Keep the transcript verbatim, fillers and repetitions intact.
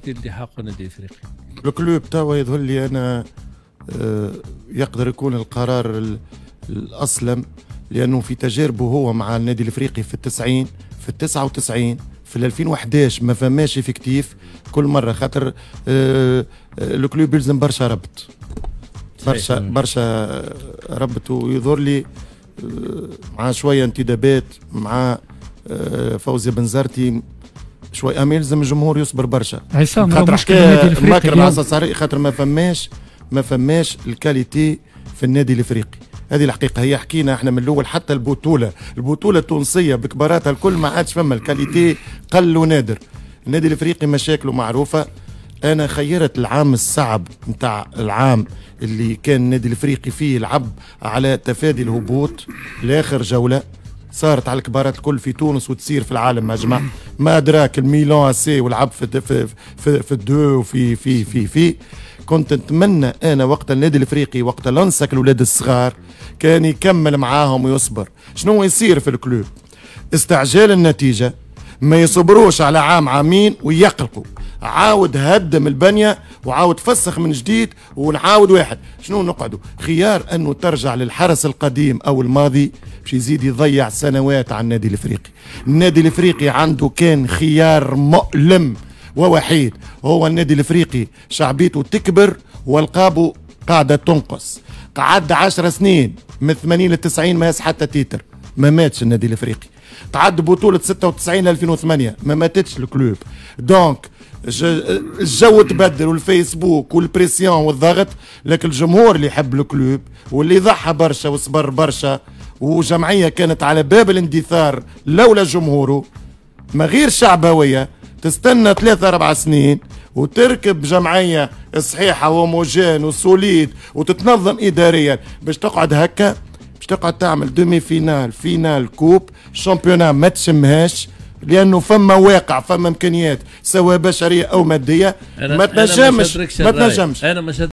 اللي حقه النادي الافريقي. ال club توا يظهر لي انا آه، يقدر يكون القرار الاسلم، لانه في تجاربه هو مع النادي الافريقي في التسعين، في التسعة وتسعين، في ألفين وحداش ما فماش effectif كل مره، خاطر آه، آه، ال club يلزم برشا ربط، برشا برشا ربط. ويظهر لي مع شوية انتدابات، مع فوزي بنزرتي شوي، اما يلزم الجمهور يصبر برشا. عصام، خاطر حكاية مكر، خاطر ما فماش ما فماش ال qualité في النادي الافريقي. هذه الحقيقة هي، حكينا احنا من الاول، حتى البطوله البطوله التونسية بكباراتها الكل ما عادش فما ال qualité، قل ونادر. النادي الافريقي مشاكله معروفه. انا خيرت العام الصعب نتاع العام اللي كان النادي الافريقي فيه لعب على تفادي الهبوط لاخر جوله، صارت على الكبارات الكل في تونس وتصير في العالم اجمع، ما ادراك الميلان اسي ولعب في في في, في ال deux وفي في في في كنت نتمنى انا وقت النادي الافريقي وقت لنسك الاولاد الصغار كان يكمل معاهم ويصبر. شنو يصير في ال club؟ استعجال النتيجه، ما يصبروش على عام عامين ويقلقوا، عاود هدم البنية وعاود فسخ من جديد ونعاود واحد. شنو نقعدوا؟ خيار انه ترجع للحرس القديم او الماضي باش يزيد يضيع سنوات على النادي الافريقي. النادي الافريقي عنده كان خيار مؤلم ووحيد، هو النادي الافريقي شعبيته تكبر والقابه قاعدة تنقص. قعد عشر سنين من ثمانين ل تسعين ما هز حتى titre، ما ماتش النادي الافريقي. قعد بطولة ستة وتسعين ل ألفين وثمانية ما ماتتش ال club. donc الجو تبدل والفيسبوك وال pression والضغط، لكن الجمهور اللي يحب ال club واللي ضحى برشا وصبر برشا، وجمعية كانت على باب الاندثار لولا جمهوره، ما غير شعبويه. تستنى ثلاثة أربع سنين وتركب جمعية صحيحة و homogène و solide وتتنظم إداريا، باش تقعد هكا، باش تقعد تعمل demi-finale، finale coupe، championnat ما تشمهاش، لانه فما واقع، فما امكانيات سواء بشرية او مادية ما تنجمش، ما تنجمش. انا ما